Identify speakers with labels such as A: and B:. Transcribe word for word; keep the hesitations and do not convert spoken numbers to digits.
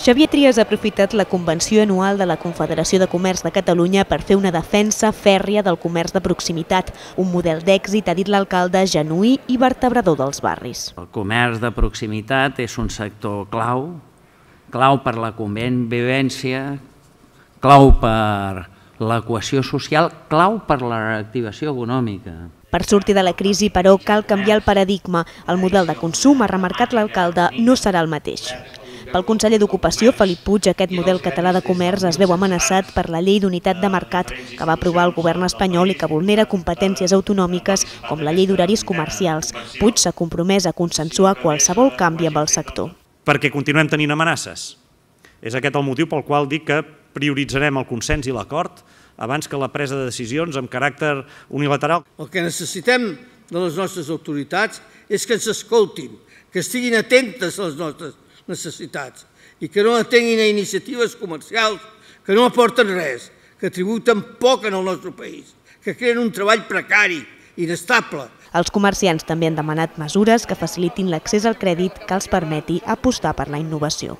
A: Xavier Trias ha aprofitat la convenció anual de la Confederació de Comerç de Catalunya per fer una defensa fèrria del comerç de proximitat, un model d'èxit, ha dit l'alcalde, genuí i vertebrador dels barris.
B: El comerç de proximitat és un sector clau, clau per la convivència, clau per la cohesió social, clau per la reactivació econòmica.
A: Per sortir de la crisi, però, cal canviar el paradigma. El model de consum, ha remarcat l'alcalde, no serà el mateix. Pel conseller d'Ocupació, Felip Puig, aquest model català de comerç es veu amenaçat per la llei d'unitat de mercat que va aprovar el govern espanyol i que vulnera competències autonòmiques com la llei d'horaris comercials. Puig s'ha compromès a consensuar qualsevol canvi amb el sector.
C: Perquè continuem tenint amenaces. És aquest el motiu pel qual dic que prioritzarem el consens i l'acord abans que la presa de decisions amb caràcter unilateral.
D: El que necessitem de les nostres autoritats és que ens escoltin, que estiguin atentes a les nostres necessitats i que no atenguin a iniciatives comercials que no aporten res, que tributen poc en el nostre país, que creen un treball precari, inestable.
A: Els comerciants també han demanat mesures que facilitin l'accés al crèdit que els permeti apostar per la innovació.